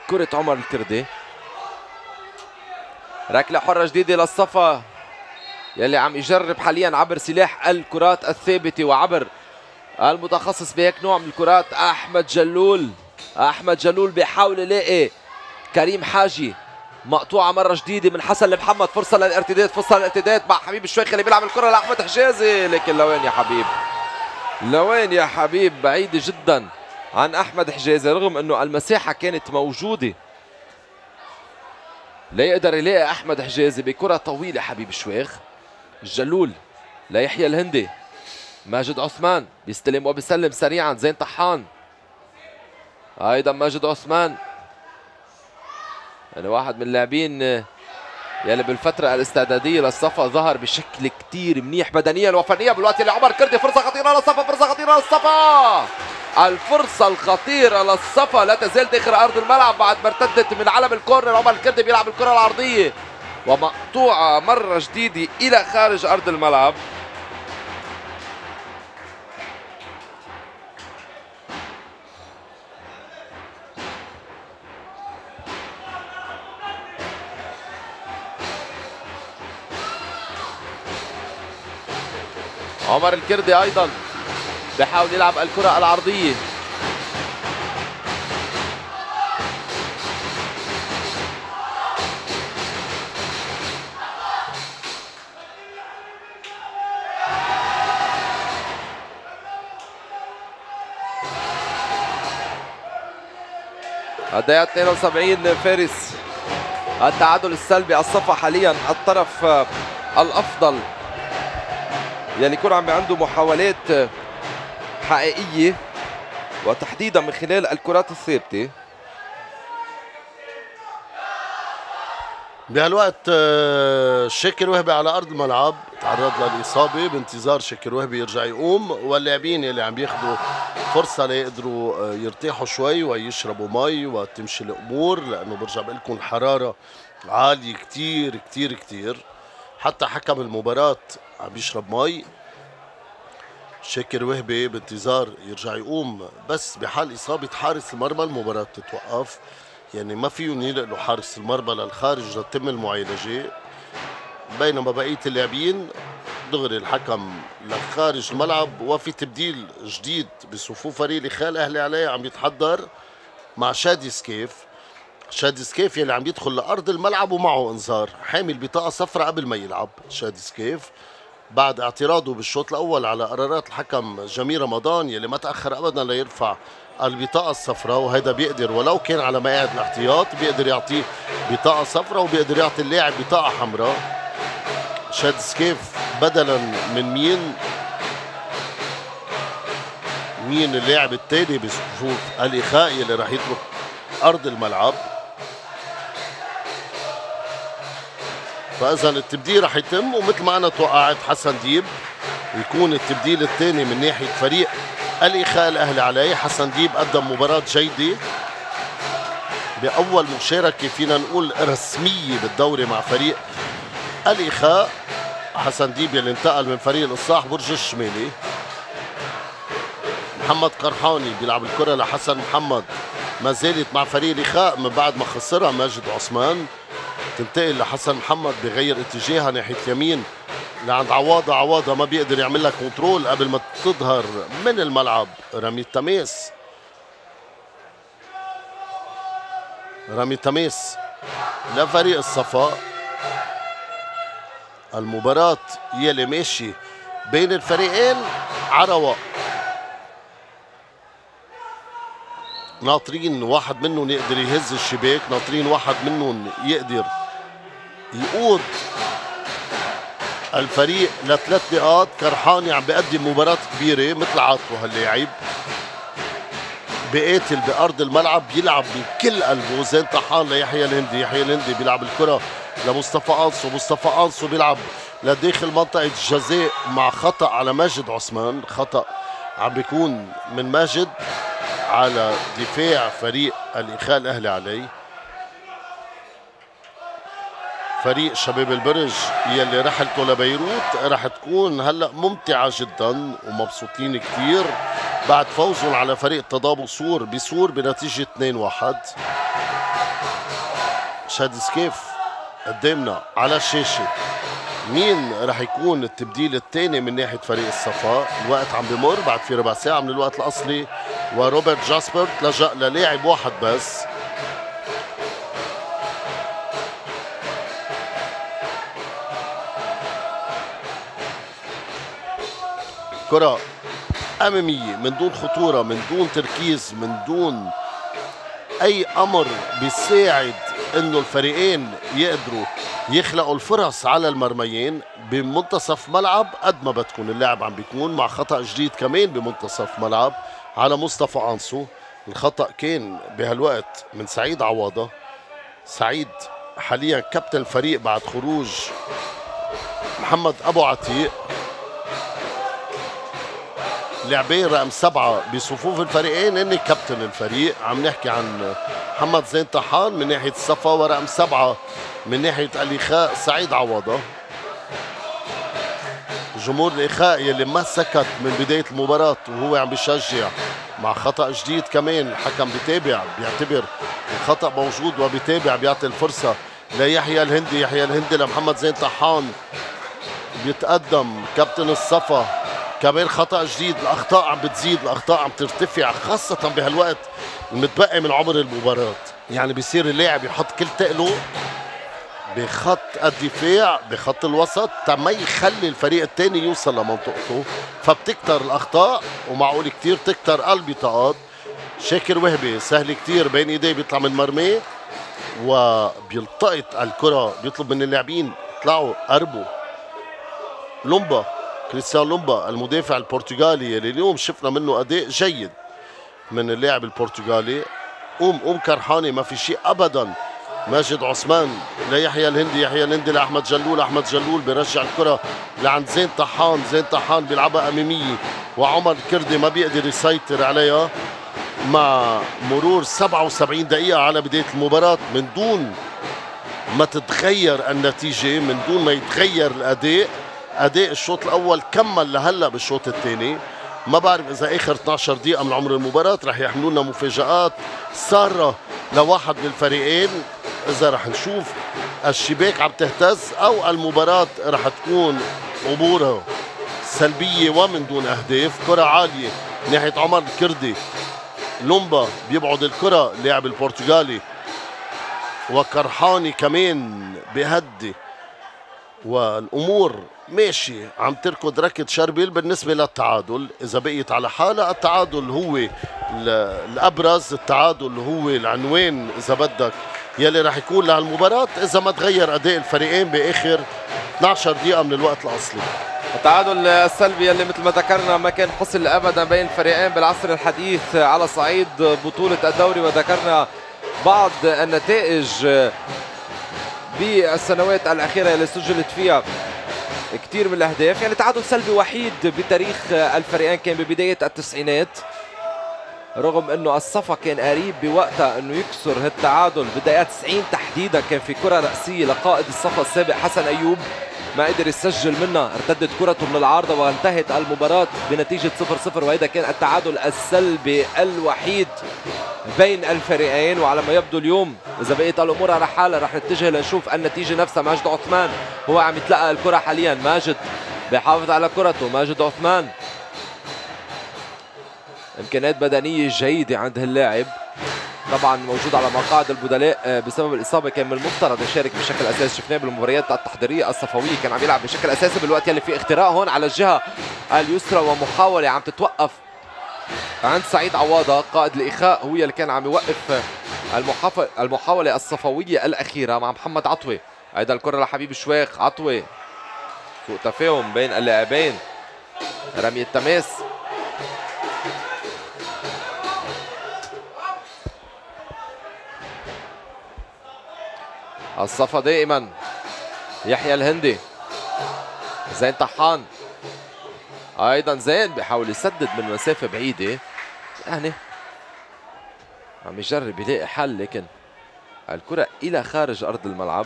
كرة عمر الكردي. ركلة حرة جديدة للصفا يلي عم يجرب حاليا عبر سلاح الكرات الثابتة وعبر المتخصص بهيك نوع من الكرات أحمد جلول. أحمد جلول بيحاول يلاقي كريم حاجي، مقطوعة مرة جديدة من حسن المحمد. فرصة للارتداد، فرصة للارتداد مع حبيب الشويخ اللي بيلعب الكرة لأحمد حجازي، لكن لوين يا حبيب، لوين يا حبيب، بعيدة جدا عن أحمد حجازي رغم أنه المساحة كانت موجودة. لا يقدر يلاقي أحمد حجازي بكرة طويلة حبيب الشويخ. الجلول ليحيى الهندي. ماجد عثمان بيستلم وبيسلم سريعا. زين طحان ايضا. ماجد عثمان يعني واحد من اللاعبين يلي بالفترة الاستعدادية للصفا ظهر بشكل كتير منيح بدنيا وفنيا بالوقت اللي عمر كردي. فرصة خطيرة للصفا. فرصة خطيرة للصفا. الفرصة الخطيرة للصفا لا تزال داخل أرض الملعب بعد ما ارتدت من علم الكورنر. عمر الكردي بيلعب الكرة العرضية ومقطوعة مرة جديدة إلى خارج أرض الملعب. عمر الكردي أيضا بحاول يلعب الكرة العرضية. الدقيقة 72 فارس. التعادل السلبي. الصفا حاليا الطرف الأفضل يلي يكون عم عنده محاولات حقيقية وتحديدا من خلال الكرات الثابتة. بهالوقت شاكر وهبي على ارض الملعب تعرض للاصابه، بانتظار شاكر وهبي يرجع يقوم، واللاعبين اللي عم بياخذوا فرصه ليقدروا يرتاحوا شوي ويشربوا مي وتمشي الامور، لانه برجع بقول لكم الحراره عاليه كتير كتير كتير. حتى حكم المباراه عم بيشرب مي. شاكر وهبي بانتظار يرجع يقوم، بس بحال اصابه حارس المرمى المباراه بتتوقف، يعني ما فيهم ينقلوا حارس المرمى للخارج لتتم المعالجه، بينما بقيه اللاعبين دغري الحكم لخارج الملعب. وفي تبديل جديد بصفوف فريق الإخاء الأهلي عليه عم يتحضر مع شادي سكيف. شادي سكيف يلي عم يدخل لأرض الملعب ومعه انذار، حامل بطاقة صفراء قبل ما يلعب. شادي سكيف بعد اعتراضه بالشوط الأول على قرارات الحكم جميل رمضان يلي ما تأخر أبدا ليرفع البطاقة الصفراء، وهذا بيقدر ولو كان على مقاعد الاحتياط بيقدر يعطيه بطاقة صفراء وبيقدر يعطي اللاعب بطاقة حمراء. شاد سكيف بدلا من مين اللاعب الثاني بصفوف الإخاء اللي راح يترك أرض الملعب. فإذا التبديل راح يتم، ومثل ما أنا توقعت حسن ديب يكون التبديل الثاني من ناحية فريق الإخاء الأهلي عليه. حسن ديب قدم مباراة جيدة بأول مشاركة فينا نقول رسمية بالدوري مع فريق الإخاء. حسن ديب يلي انتقل من فريق الإصلاح برج الشمالي. محمد قرحاني بيلعب الكرة لحسن محمد، ما زالت مع فريق الإخاء من بعد ما خسرها ماجد عثمان. تنتقل لحسن محمد بغير اتجاهها ناحية اليمين لعند عواضة. عواضة ما بيقدر يعمل لها كنترول قبل ما تظهر من الملعب رمي تماس. رمي تماس لفريق الصفا. المباراة يلي ماشي بين الفريقين عرواء، ناطرين واحد منهم يقدر يهز الشباك، ناطرين واحد منهم يقدر يقود الفريق ل3 نقاط. كرحاني عم بيقدم مباراة كبيرة مثل عادته هاللاعب، بقاتل بأرض الملعب، بيلعب بكل قلبه. زين طحان ليحيى الهندي. يحيى الهندي بيلعب الكرة لمصطفى أنصو. مصطفى أنصو بيلعب لداخل منطقة الجزاء مع خطأ على ماجد عثمان. خطأ عم بيكون من ماجد على دفاع فريق الإخاء الأهلي عليه. فريق شباب البرج يلي رحلته لبيروت رح تكون هلأ ممتعة جدا ومبسوطين كتير بعد فوزهم على فريق تضامن سور بسور بنتيجة 2-1. شادي سكيف قدامنا على الشاشة. مين رح يكون التبديل الثاني من ناحية فريق الصفا؟ الوقت عم بمر بعد في ربع ساعة من الوقت الأصلي، وروبرت جاسبرت لجأ للاعب واحد بس. كرة أمامية من دون خطورة، من دون تركيز، من دون أي أمر بيساعد انه الفريقين يقدروا يخلقوا الفرص على المرميين بمنتصف ملعب قد ما بتكون اللاعب عم بيكون مع خطأ جديد كمان بمنتصف ملعب على مصطفى أنسو. الخطأ كان بهالوقت من سعيد عواضة. سعيد حاليا كابتن الفريق بعد خروج محمد أبو عتيق، لاعبين رقم 7 بصفوف الفريقين هن كابتن الفريق. عم نحكي عن محمد زين طحان من ناحية الصفا، ورقم 7 من ناحية الإخاء سعيد عواضة. جمهور الإخاء يلي ما سكت من بداية المباراة وهو عم بيشجع مع خطأ جديد كمان. الحكم بيتابع، بيعتبر الخطأ موجود وبيتابع، بيعطي الفرصة ليحيى الهندي. يحيى الهندي لمحمد زين طحان، بيتقدم كابتن الصفا. كمان خطأ جديد. الأخطاء عم بتزيد، الأخطاء عم ترتفع، خاصة بهالوقت المتبقي من عمر المباراة. يعني بيصير اللاعب يحط كل تقله بخط الدفاع بخط الوسط ما يخلي الفريق الثاني يوصل لمنطقته، فبتكتر الأخطاء ومعقول كتير تكتر البطاقات. شاكر وهبي سهل كتير بين ايديه بيطلع من مرميه وبيلتقط الكرة، بيطلب من اللاعبين اطلعوا قربوا. لومبا، كريستيان لومبا المدافع البرتغالي اللي اليوم شفنا منه أداء جيد من اللاعب البرتغالي. قوم كرحاني، ما في شيء أبدا. ماجد عثمان ليحيى الهندي، يحيى الهندي لأحمد جلول، أحمد جلول بيرجع الكرة لعند زين طحان، زين طحان بيلعبها أمامية وعمر كردي ما بيقدر يسيطر عليها. مع مرور 77 دقيقة على بداية المباراة من دون ما تتغير النتيجة، من دون ما يتغير الأداء. أداء الشوط الأول كمل لهلا بالشوط الثاني. ما بعرف إذا آخر 12 دقيقة من عمر المباراة رح يحملوا لنا مفاجآت سارة لواحد من الفريقين، إذا رح نشوف الشباك عم تهتز أو المباراة رح تكون أمورها سلبية ومن دون أهداف. كرة عالية ناحية عمر الكردي، لومبا بيبعد الكرة اللاعب البرتغالي، وكرحاني كمان بهدي، والأمور ماشي عم تركض ركض شربيل بالنسبة للتعادل. إذا بقيت على حالة التعادل هو الأبرز، التعادل هو العنوان إذا بدك يلي رح يكون لهالمباراة إذا ما تغير أداء الفريقين بآخر 12 دقيقة من الوقت الأصلي. التعادل السلبي اللي مثل ما ذكرنا ما كان حصل ابدا بين الفريقين بالعصر الحديث على صعيد بطولة الدوري، وذكرنا بعض النتائج بالسنوات الأخيرة اللي سجلت فيها كثير من الأهداف. يعني تعادل سلبي وحيد بتاريخ الفريقين كان ببداية التسعينات، رغم انه الصفا كان قريب بوقتها انه يكسر هالتعادل. بداية 90 تحديدا كان في كرة رأسية لقائد الصفا السابق حسن أيوب، ما قدر يسجل منها، ارتدت كرته من العارضة وانتهت المباراة بنتيجة 0-0، وهذا كان التعادل السلبي الوحيد بين الفريقين. وعلى ما يبدو اليوم إذا بقيت الأمور على حالها رح نتجه لنشوف النتيجة نفسها. ماجد عثمان هو عم يتلقى الكرة حاليا، ماجد بيحافظ على كرته، ماجد عثمان إمكانيات بدنية جيدة عند هاللاعب، طبعا موجود على مقاعد البدلاء بسبب الإصابة. كان من المفترض يشارك بشكل أساسي، شفناه بالمباريات التحضيرية الصفوية كان عم يلعب بشكل أساسي بالوقت يلي في اختراق هون على الجهة اليسرى ومحاولة عم تتوقف عند سعيد عواضة قائد الإخاء، هو اللي كان عم يوقف المحاولة الصفوية الأخيرة مع محمد عطوة. أيضا الكرة لحبيب شواخ، عطوة سوء تفاهم بين اللاعبين، رمي التماس الصفا دائما. يحيى الهندي، زين طحان، ايضا زين بيحاول يسدد من مسافه بعيده، يعني عم يجرب يلاقي حل، لكن الكره الى خارج ارض الملعب.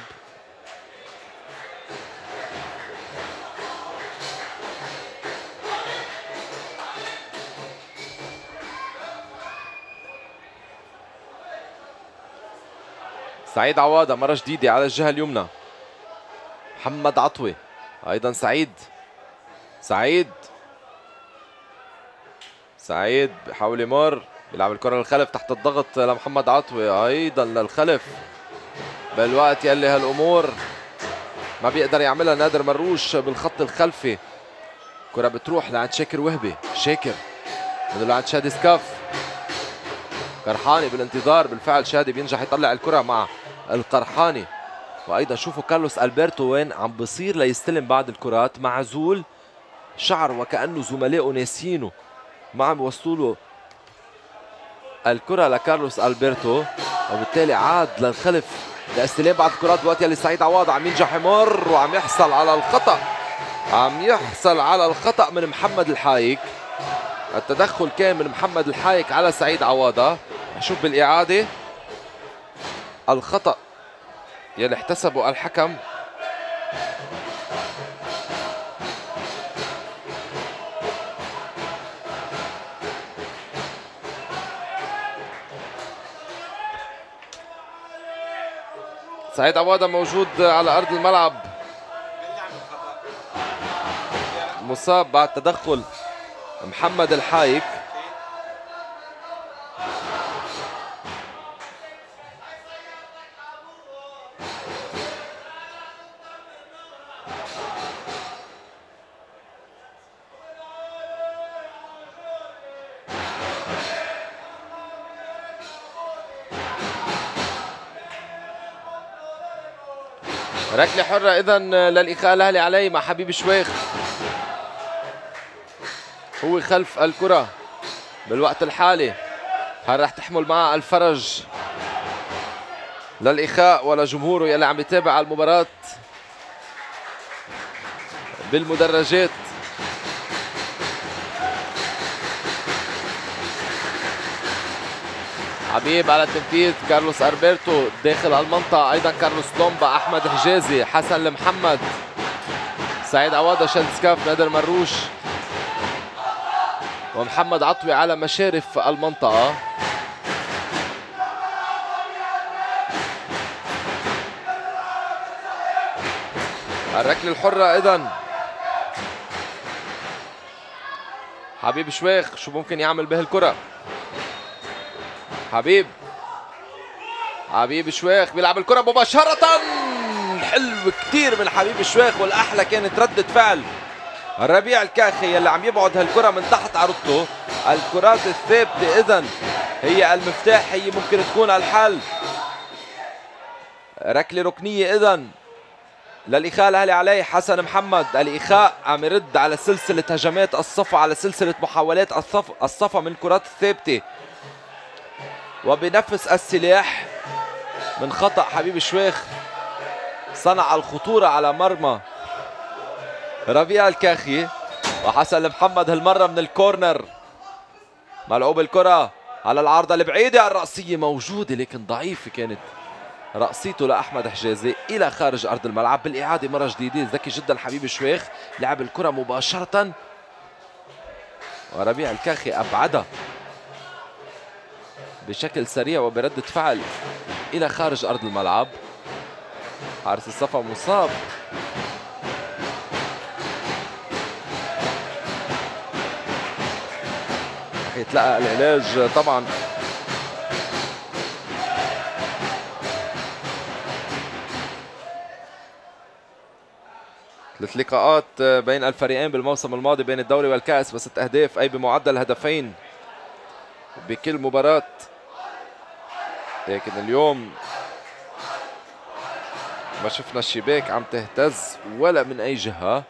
سعيد عواضة مرة جديدة على الجهة اليمنى، محمد عطوة، أيضا سعيد بحاول يمر، بيلعب الكرة للخلف تحت الضغط لمحمد عطوة، أيضا للخلف بالوقت يلي هالأمور ما بيقدر يعملها نادر مروش بالخط الخلفي. كرة بتروح لعند شاكر وهبي، شاكر من لعند شادي سكاف، كرحاني بالانتظار. بالفعل شادي بينجح يطلع الكرة مع القرحاني. وايضا شوفوا كارلوس البرتو وين عم بصير ليستلم بعض الكرات، معزول شعر وكأنه زملائه ناسينه، ما عم يوصلوا له الكرة لكارلوس البرتو، وبالتالي عاد للخلف لاستلام بعض الكرات. دلوقتي اللي سعيد عوض عم ينجح يمر وعم يحصل على الخطأ، عم يحصل على الخطأ من محمد الحايك. التدخل كان من محمد الحايك على سعيد عواضة. نشوف بالإعادة الخطأ يلي احتسبه الحكم. سعيد عواضة موجود على أرض الملعب، مصاب بعد تدخل محمد الحايك. ركلة حرة إذن للإخاء الأهلي علي مع حبيب شويخ، هو خلف الكرة بالوقت الحالي. هل رح تحمل معها الفرج للإخاء ولا جمهوره يلي عم يتابع المباراة بالمدرجات؟ حبيب على التنفيذ، كارلوس البرتو داخل المنطقة، أيضا كارلوس لومبا، أحمد حجازي، حسن المحمد، سعيد عواضة، شلسكاف، نادر مروش ومحمد عطوي على مشارف المنطقة. الركلة الحرة إذن حبيب شويخ، شو ممكن يعمل به الكرة؟ حبيب شويخ بيلعب الكرة مباشرة، حلو كتير من حبيب شويخ، والأحلى كانت ردة فعل ربيع الكاخي يلي عم يبعد هالكرة من تحت عرضته. الكرات الثابتة إذن هي المفتاح، هي ممكن تكون الحل. ركلة ركنية إذن للإخاء الأهلي عليه. حسن محمد الإخاء عم يرد على سلسلة هجمات الصفا، على سلسلة محاولات الصفا من الكرات الثابتة، وبنفس السلاح من خطأ حبيب شويخ صنع الخطورة على مرمى ربيع الكاخي. وحسن محمد هالمرة من الكورنر، ملعوب الكرة على العارضة البعيدة، الرأسية موجودة لكن ضعيفة كانت رأسيته لأحمد حجازي إلى خارج أرض الملعب. بالإعادة مرة جديدة ذكي جدا حبيب شويخ، لعب الكرة مباشرة وربيع الكاخي أبعدها بشكل سريع وبردة فعل إلى خارج أرض الملعب. حارس الصفا مصاب، رح يتلقى العلاج طبعا. ثلاث لقاءات بين الفريقين بالموسم الماضي بين الدوري والكأس ب6 أهداف، أي بمعدل هدفين بكل مباراة. لكن اليوم ما شفنا الشباك عم تهتز ولا من أي جهة.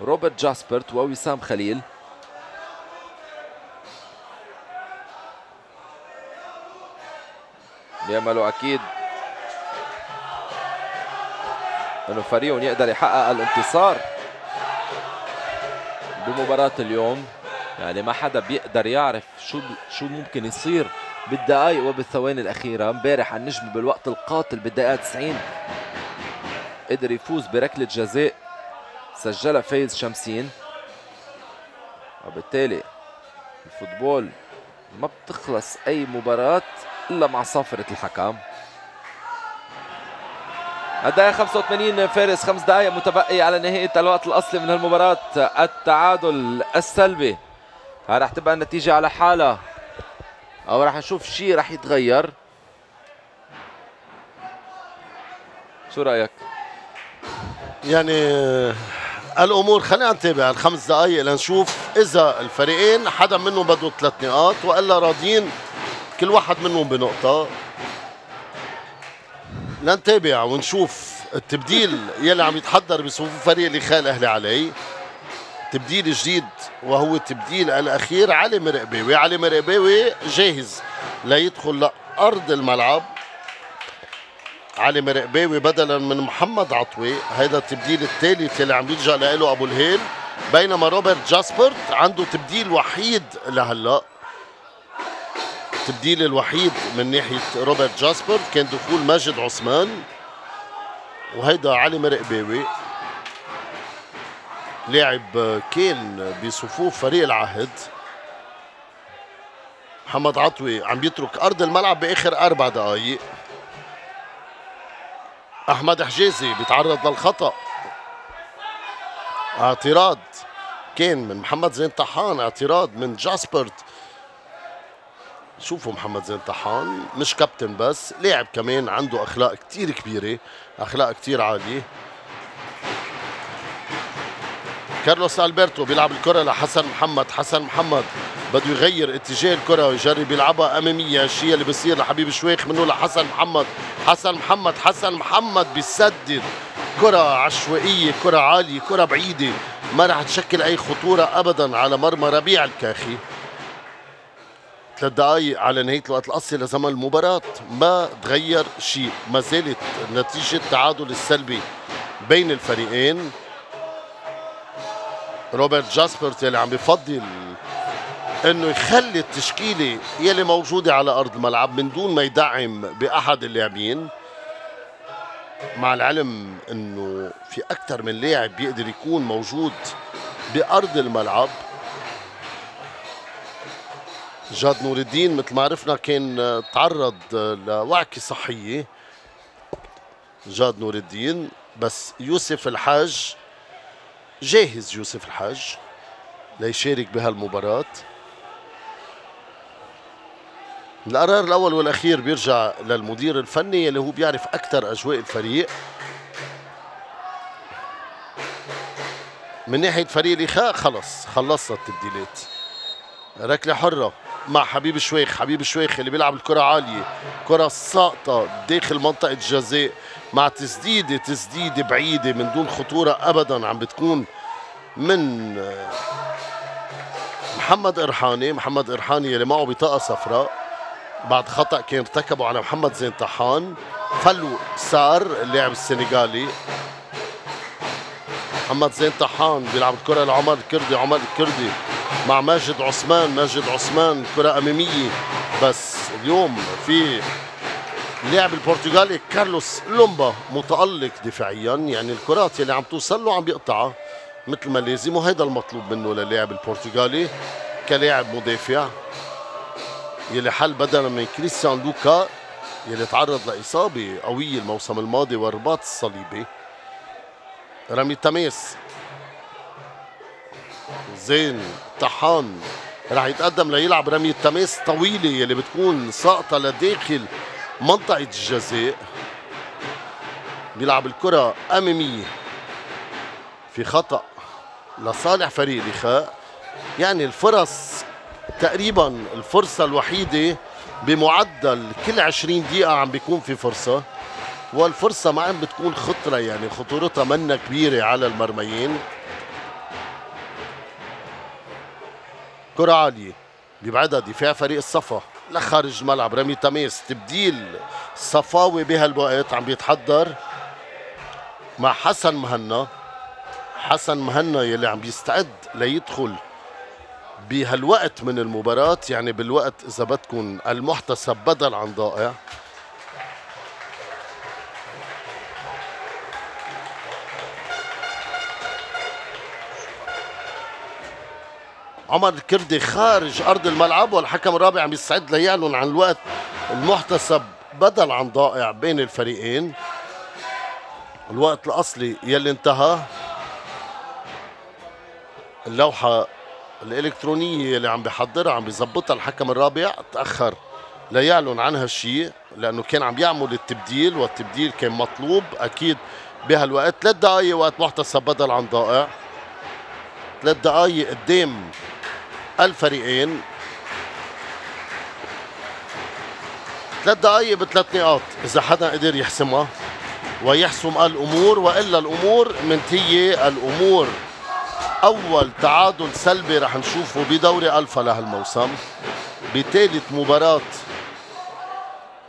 روبرت جاسبرت ووسام خليل بيعملوا أكيد انه فريقهم يقدر يحقق الانتصار بمباراة اليوم. يعني ما حدا بيقدر يعرف شو ممكن يصير بالدقائق وبالثواني الأخيرة. امبارح النجم بالوقت القاتل بالدقيقة 90 قدر يفوز بركلة جزاء سجلها فايز شمسين، وبالتالي الفوتبول ما بتخلص أي مباراة إلا مع صافرة الحكم. الدقيقة 85 فارس، 5 دقائق متبقي على نهاية الوقت الأصلي من هالمباراة. التعادل السلبي رح تبقى النتيجة على حالها أو رح نشوف شيء رح يتغير. شو رأيك؟ يعني الأمور خلينا نتابع ال5 دقائق لنشوف إذا الفريقين حدا منهم بده 3 نقاط وإلا راضيين كل واحد منهم بنقطة. لنتابع ونشوف التبديل يلي عم يتحضر بصفوف فريق الإخاء الأهلي علي. تبديل جديد وهو التبديل الأخير. علي مرقباوي، علي مرقباوي جاهز ليدخل لأرض الملعب. علي مرقباوي بدلا من محمد عطوي، هيدا التبديل الثالث يلي عم يلجأ له أبو الهيل. بينما روبرت جاسبرت عنده تبديل وحيد لهلا. التبديل الوحيد من ناحية روبرت جاسبرت كان دخول ماجد عثمان، وهيدا علي مرقباوي لاعب كان بصفوف فريق العهد. محمد عطوي عم يترك أرض الملعب بآخر 4 دقايق. أحمد حجازي بيتعرض للخطأ، اعتراض كان من محمد زين طحان، اعتراض من جاسبرت. شوفوا محمد زين طحان مش كابتن بس، لاعب كمان عنده أخلاق كتير كبيرة، أخلاق كتير عالية. كارلوس ألبرتو بيلعب الكرة لحسن محمد. حسن محمد بده يغير اتجاه الكرة ويجرب يلعبها أمامية، الشيء اللي بيصير لحبيب شويخ منه لحسن محمد. حسن محمد بيسدد كرة عشوائية، كرة عالية، كرة بعيدة، ما رح تشكل أي خطورة أبدا على مرمى ربيع الكاخي. 3 دقايق على نهاية الوقت الأصلي لزمن المباراة، ما تغير شيء، ما زالت نتيجة التعادل السلبي بين الفريقين. روبرت جاسبرت يلي عم بفضل انه يخلي التشكيله يلي موجوده على ارض الملعب من دون ما يدعم باحد اللاعبين، مع العلم انه في اكثر من لاعب بيقدر يكون موجود بارض الملعب. جاد نور الدين مثل ما عرفنا كان تعرض لوعكه صحيه، جاد نور الدين، بس يوسف الحاج جاهز. يوسف الحاج ليشارك بهالمباراة. القرار الأول والأخير بيرجع للمدير الفني اللي هو بيعرف أكثر أجواء الفريق. من ناحية فريق الإخاء خلصنا التبديلات. ركلة حرة مع حبيب شويخ. حبيب شويخ اللي بيلعب الكرة عالية، كرة ساقطة داخل منطقة الجزاء مع تسديدة بعيدة من دون خطورة أبدا عم بتكون من محمد إرحاني. محمد إرحاني اللي معه بطاقة صفراء بعد خطأ كان ارتكبه على محمد زين طحان. فلو سار اللاعب السنغالي. محمد زين طحان بيلعب الكرة لعمر الكردي. عمر الكردي مع ماجد عثمان كرة أمامية، بس اليوم في اللاعب البرتغالي كارلوس لومبا متألق دفاعيا، يعني الكرات اللي عم توصل له عم بيقطعها مثل ما لازم، وهيدا المطلوب منه للاعب البرتغالي كلاعب مدافع يلي حل بدلا من كريستيان لوكا يلي تعرض لإصابة قوية الموسم الماضي والرباط الصليبي. رمي تماس زين طحان رح يتقدم ليلعب رمية تماس طويلة يلي بتكون ساقطة لداخل منطقة الجزاء. بيلعب الكرة أمامية، في خطأ لصالح فريق الإخاء. يعني الفرص تقريبا الفرصة الوحيدة بمعدل كل 20 دقيقة عم بيكون في فرصة، والفرصة ما عم بتكون خطرة، يعني خطورتها منا كبيرة على المرميين. كرة عالية بيبعدها دفاع فريق الصفا لخارج الملعب. رمي تماس، تبديل صفاوي بهالوقت عم بيتحضر مع حسن مهنا. حسن مهنا يلي عم بيستعد ليدخل بهالوقت من المباراة، يعني بالوقت إذا بدكم المحتسب بدل عن ضائع. عمر الكردي خارج أرض الملعب، والحكم الرابع عم يستعد ليعلن عن الوقت المحتسب بدل عن ضائع بين الفريقين. الوقت الأصلي يلي انتهى. اللوحة الإلكترونية اللي عم بيحضرها عم بيظبطها الحكم الرابع، تأخر ليعلن عن هالشيء لأنه كان عم يعمل التبديل، والتبديل كان مطلوب أكيد بهالوقت. 3 دقايق وقت محتسب بدل عن ضائع، 3 دقايق قدام الفريقين. 3 دقائق ب3 نقاط اذا حدا قدر يحسمها ويحسم الامور، والا الامور منتهيه. الامور اول تعادل سلبي رح نشوفه بدوري الفا لهالموسم. بثالث مباراه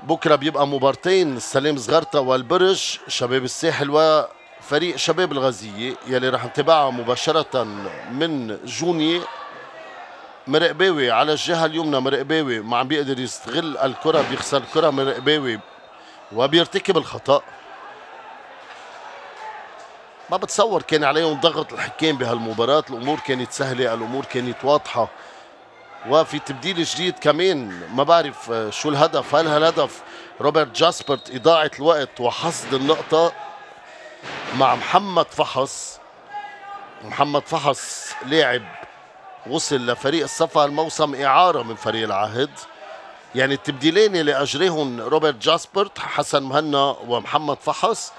بكره بيبقى مبارتين، السلام زغرتا والبرج، شباب الساحل وفريق شباب الغازيه يلي رح نتابعها مباشره من جوني. مرقباوي على الجهه اليمنى، مرقباوي ما عم بيقدر يستغل الكره، بيخسر الكره مرقباوي وبيرتكب الخطا. ما بتصور كان عليهم ضغط الحكام بهالمباراه، الامور كانت سهله، الامور كانت واضحه. وفي تبديل جديد كمان، ما بعرف شو الهدف، هل هالهدف روبرت جاسبرت اضاعه الوقت وحصد النقطه مع محمد فحص. محمد فحص لاعب وصل لفريق الصفا الموسم اعاره من فريق العهد. يعني التبديلين اللي اجريهم روبرت جاسبرت، حسن مهنا ومحمد فحص،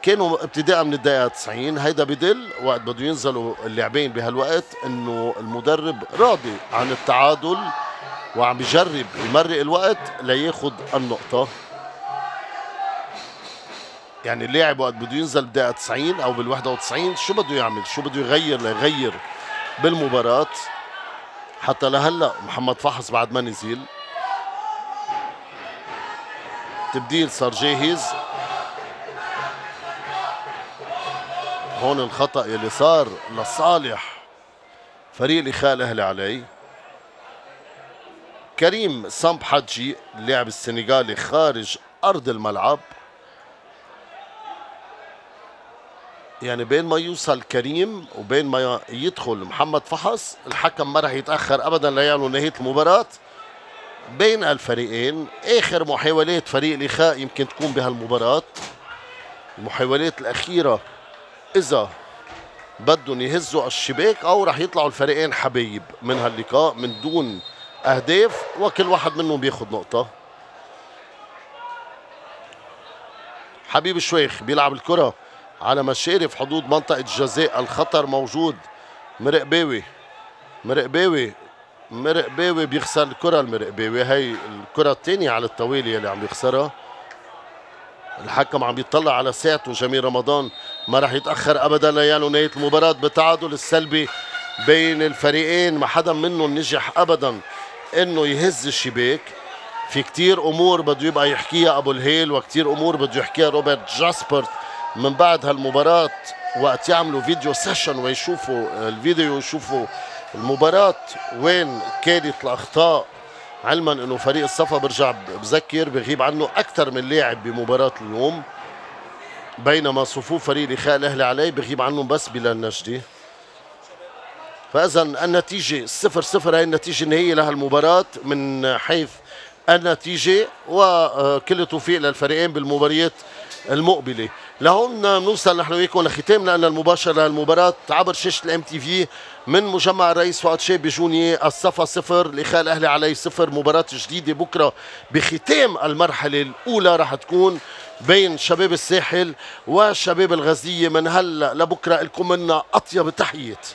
كانوا ابتداء من الدقيقة 90. هيدا بدل وقت بده ينزلوا اللاعبين بهالوقت انه المدرب راضي عن التعادل وعم بيجرب يمرق الوقت لياخد النقطة. يعني اللاعب وقت بده ينزل بالدقيقة 90 او بال91 شو بده يعمل؟ شو بده يغير ليغير بالمباراة؟ حتى لهلا محمد فحص بعد ما نزل. تبديل صار جاهز. هون الخطأ يلي صار لصالح فريق الإخاء الأهلي علي. كريم سامب حجي اللاعب السنغالي خارج أرض الملعب. يعني بين ما يوصل كريم وبين ما يدخل محمد فحص، الحكم ما رح يتأخر أبدا ليعلن نهاية المباراة بين الفريقين. آخر محاولات فريق الإخاء يمكن تكون بهالمباراة، المحاولات الأخيرة إذا بدهم يهزوا الشباك أو رح يطلعوا الفريقين حبايب من هاللقاء من دون أهداف، وكل واحد منهم بياخد نقطة. حبيب الشويخ بيلعب الكرة على مشارف حدود منطقة الجزاء، الخطر موجود. مرقباوي بيخسر الكرة. المرقباوي هي الكرة الثانية على التوالي اللي عم بيخسرها. الحكم عم بيطلع على ساعته. جميل رمضان ما راح يتأخر أبدا ليعلن نهاية المباراة بالتعادل السلبي بين الفريقين. ما حدا منهم نجح أبدا إنه يهز الشباك. في كتير أمور بده يبقى يحكيها أبو الهيل، وكتير أمور بده يحكيها روبرت جاسبرت من بعد هالمباراة، وقت يعملوا فيديو سيشن ويشوفوا الفيديو ويشوفوا المباراة وين كانت الأخطاء. علما انه فريق الصفا برجع بذكر بغيب عنه اكثر من لاعب بمباراه اليوم، بينما صفوف فريق الإخاء الأهلي علي بغيب عنهم بس بلال النجدي. فاذا النتيجه 0-0 هي النتيجه النهائيه لهالمباراه من حيث النتيجه، وكل التوفيق للفريقين بالمباريات المقبله. لهون نوصل نحن وياكم لختامنا المباشر للمباراه عبر شاشه الام تي في من مجمع الرئيس فؤاد شاب بجونية. الصفا 0، الإخاء الأهلي علي 0. مباراة جديدة بكرة بختام المرحلة الأولى رح تكون بين شباب الساحل وشباب الغازية. من هلا لبكرة لكم منا أطيب التحيات.